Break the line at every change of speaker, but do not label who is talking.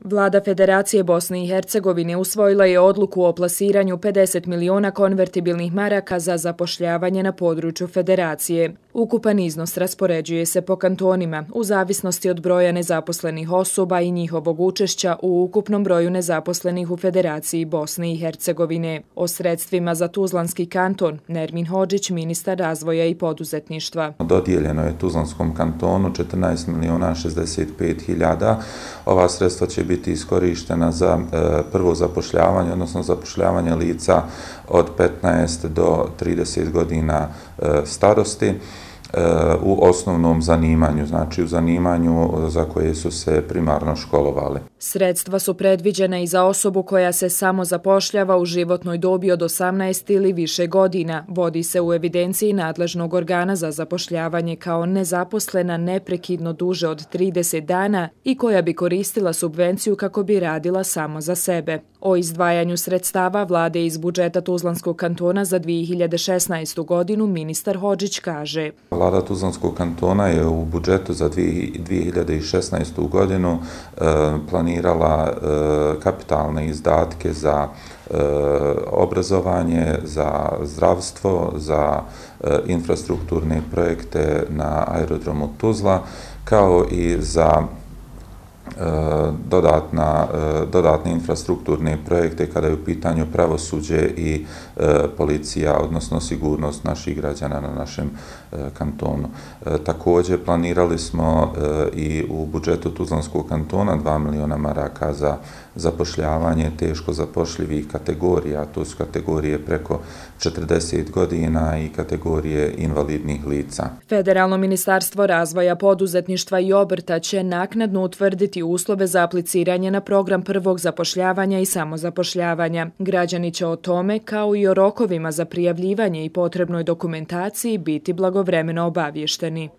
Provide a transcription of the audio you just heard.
Vlada Federacije Bosne i Hercegovine usvojila je odluku o plasiranju 50 miliona konvertibilnih maraka za zapošljavanje na području Federacije. Ukupan iznos raspoređuje se po kantonima u zavisnosti od broja nezaposlenih osoba i njihovog učešća u ukupnom broju nezaposlenih u Federaciji Bosne i Hercegovine. O sredstvima za Tuzlanski kanton Nermin Hodžić, ministar razvoja i poduzetništva.
Dodijeljeno je Tuzlanskom kantonu 14 miliona 65 hiljada. Ova sredstva će biti iskorištena za prvo zapošljavanje, odnosno zapošljavanje lica od 15 do 30 godina starosti u osnovnom zanimanju, znači u zanimanju za koje su se primarno školovali.
Sredstva su predviđena i za osobu koja se samo zapošljava u životnoj dobi od 18 ili više godina. Vodi se u evidenciji nadležnog organa za zapošljavanje kao nezaposlena neprekidno duže od 30 dana i koja bi koristila subvenciju kako bi radila samo za sebe. O izdvajanju sredstava vlade iz budžeta Tuzlanskog kantona za 2016. godinu ministar Hodžić kaže:
Vlada Tuzlanskog kantona je u budžetu za 2016. godinu planirala kapitalne izdatke za obrazovanje, za zdravstvo, za infrastrukturne projekte na aerodromu Tuzla, kao i za dodatne infrastrukturne projekte kada je u pitanju pravosuđe i policija, odnosno sigurnost naših građana na našem kantonu. Također planirali smo i u budžetu Tuzlanskog kantona 2 miliona maraka za zapošljavanje teško zapošljivih kategorija. To su kategorije preko 40 godina i kategorije invalidnih lica.
Federalno ministarstvo razvoja, poduzetništva i obrta će naknadno utvrditi uslove za apliciranje na program prvog zapošljavanja i samozapošljavanja. Građani će o tome, kao i o rokovima za prijavljivanje i potrebnoj dokumentaciji, biti blagovremeno obavješteni.